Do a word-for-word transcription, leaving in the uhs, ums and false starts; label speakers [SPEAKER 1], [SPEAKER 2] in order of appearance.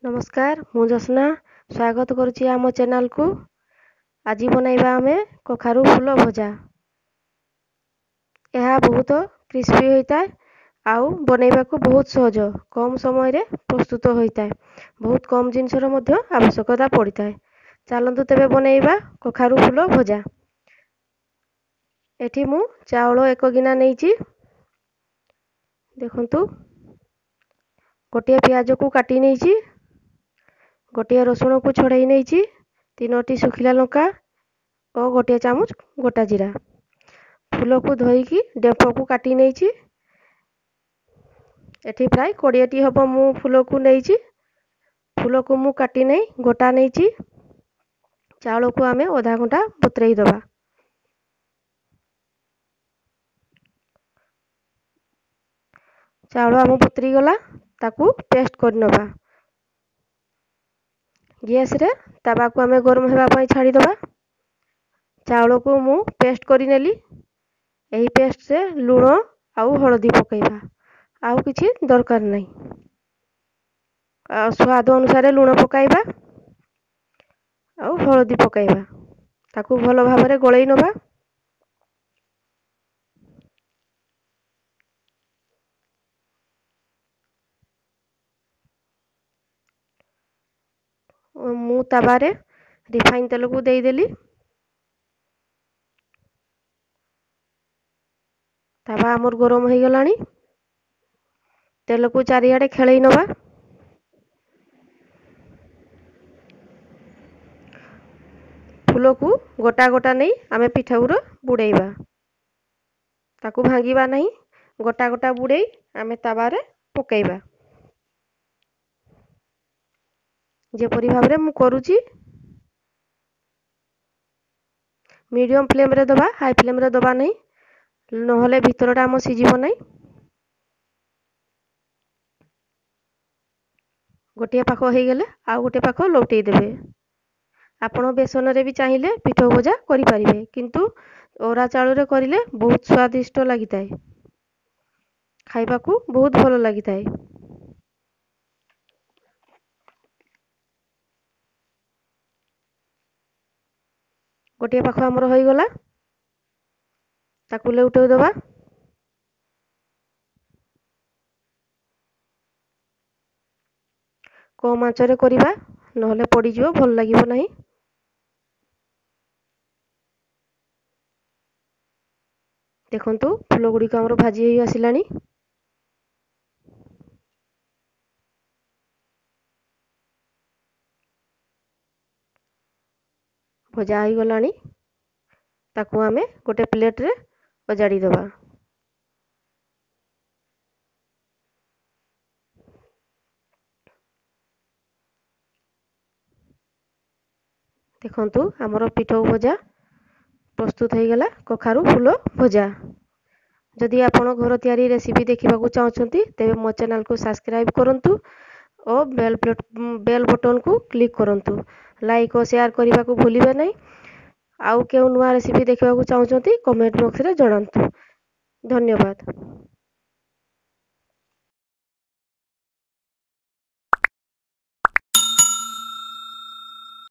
[SPEAKER 1] ନମସ୍କାର, ମୁଁ ଜସ୍ନା ସ୍ୱାଗତ କରୁଛି ଆମ ଚ୍ୟାନେଲକୁ। ଆଜି ବନାଇବା ଆମେ କଖାରୁ ଫୁଲ ଭଜା। ଏହା ବହୁତ କ୍ରିସ୍ପି ହୋଇଥାଏ ଆଉ ବନାଇବାକୁ ବହୁତ ସହଜ, କମ୍ ସମୟରେ ପ୍ରସ୍ତୁତ ହୋଇଥାଏ। ବହୁତ କମ୍ ଜିନିଷର ମଧ୍ୟ ଆବଶ୍ୟକତା ପଡ଼ିଥାଏ। ଚାଲନ୍ତୁ ତେବେ ବନାଇବା କଖାରୁ ଫୁଲ ଭଜା। ଏଠି ମୁଁ ଚାଉଳ ଏକ ଗିନା ନେଇଛି। ଦେଖନ୍ତୁ, ଗୋଟିଏ ପିଆଜକୁ କାଟି ନେଇଛି, ଗୋଟିଏ ରସୁଣକୁ ଛଡ଼େଇ ନେଇଛି, ତିନୋଟି ଶୁଖିଲା ଲଙ୍କା ଓ ଗୋଟିଏ ଚାମଚ ଗୋଟା ଜିରା। ଫୁଲକୁ ଧୋଇକି ଡେମ୍ଫକୁ କାଟି ନେଇଛି। ଏଠି ପ୍ରାୟ କୋଡ଼ିଏଟି ହେବ ମୁଁ ଫୁଲକୁ ନେଇଛି। ଫୁଲକୁ ମୁଁ କାଟି ନେଇ ଗୋଟା ନେଇଛି। ଚାଉଳକୁ ଆମେ ଅଧା ଘଣ୍ଟା ବତୁରେଇ ଦେବା। ଚାଉଳ ଆମ ବତୁରି ଗଲା, ତାକୁ ପେଷ୍ଟ କରିନେବା। ଗ୍ୟାସରେ ତାୱାକୁ ଆମେ ଗରମ ହେବା ପାଇଁ ଛାଡ଼ିଦେବା। ଚାଉଳକୁ ମୁଁ ପେଷ୍ଟ କରିନେଲି। ଏହି ପେଷ୍ଟରେ ଲୁଣ ଆଉ ହଳଦୀ ପକାଇବା, ଆଉ କିଛି ଦରକାର ନାହିଁ। ଆଉ ସ୍ୱାଦ ଅନୁସାରେ ଲୁଣ ପକାଇବା ଆଉ ହଳଦୀ ପକାଇବା। ତାକୁ ଭଲ ଭାବରେ ଗୋଳେଇ ନେବା। ମୁଁ ତାୱାରେ ରିଫାଇନ୍ ତେଲକୁ ଦେଇଦେଲି। ତାୱା ଆମର ଗରମ ହେଇଗଲାଣି। ତେଲକୁ ଚାରିଆଡ଼େ ଖେଳେଇ ନେବା। ଫୁଲକୁ ଗୋଟା ଗୋଟା ନେଇ ଆମେ ପିଠାଉର ବୁଡ଼େଇବା, ତାକୁ ଭାଙ୍ଗିବା ନାହିଁ। ଗୋଟା ଗୋଟା ବୁଡ଼େଇ ଆମେ ତାୱାରେ ପକାଇବା, ଯେପରି ଭାବରେ ମୁଁ କରୁଛି। ମିଡ଼ିୟମ୍ ଫ୍ଲେମ୍ରେ ଦେବା, ହାଇ ଫ୍ଲେମ୍ରେ ଦେବା ନାହିଁ, ନହେଲେ ଭିତରଟା ଆମ ସିଝିବ ନାହିଁ। ଗୋଟିଏ ପାଖ ହେଇଗଲେ ଆଉ ଗୋଟିଏ ପାଖ ଲଉଟେଇ ଦେବେ। ଆପଣ ବେସନରେ ବି ଚାହିଁଲେ ପିଠଉ ଭଜା କରିପାରିବେ, କିନ୍ତୁ ଅରୁଆ ଚାଉଳରେ କରିଲେ ବହୁତ ସ୍ୱାଦିଷ୍ଟ ଲାଗିଥାଏ, ଖାଇବାକୁ ବହୁତ ଭଲ ଲାଗିଥାଏ। ଗୋଟିଏ ପାଖ ଆମର ହୋଇଗଲା, ତାକୁ ଲେଉଟେଇ ଦେବା। କମ୍ ଆଞ୍ଚରେ କରିବା, ନହେଲେ ପୋଡ଼ିଯିବ, ଭଲ ଲାଗିବ ନାହିଁ। ଦେଖନ୍ତୁ, ଫୁଲ ଗୁଡ଼ିକ ଆମର ଭାଜି ହେଇ ଆସିଲାଣି। ଭଜା ହେଇଗଲାଣି, ତାକୁ ଆମେ ଗୋଟେ ପ୍ଲେଟ୍ରେ ଅଜାଡ଼ି ଦେବା। ଦେଖନ୍ତୁ, ଆମର ପିଠଉ ଭଜା ପ୍ରସ୍ତୁତ ହେଇଗଲା, କଖାରୁ ଫୁଲ ଭଜା। ଯଦି ଆପଣ ଘର ତିଆରି ରେସିପି ଦେଖିବାକୁ ଚାହୁଁଛନ୍ତି, ତେବେ ମୋ ଚ୍ୟାନେଲକୁ ସବସ୍କ୍ରାଇବ୍ କରନ୍ତୁ ଓ ବେଲ୍ ବେଲ୍ ବଟନ୍କୁ କ୍ଲିକ୍ କରନ୍ତୁ। ଲାଇକ୍ ଓ ସେୟାର କରିବାକୁ ଭୁଲିବେ ନାହିଁ। ଆଉ କେଉଁ ନୂଆ ରେସିପି ଦେଖିବାକୁ ଚାହୁଁଛନ୍ତି, କମେଣ୍ଟ ବକ୍ସରେ ଜଣାନ୍ତୁ। ଧନ୍ୟବାଦ।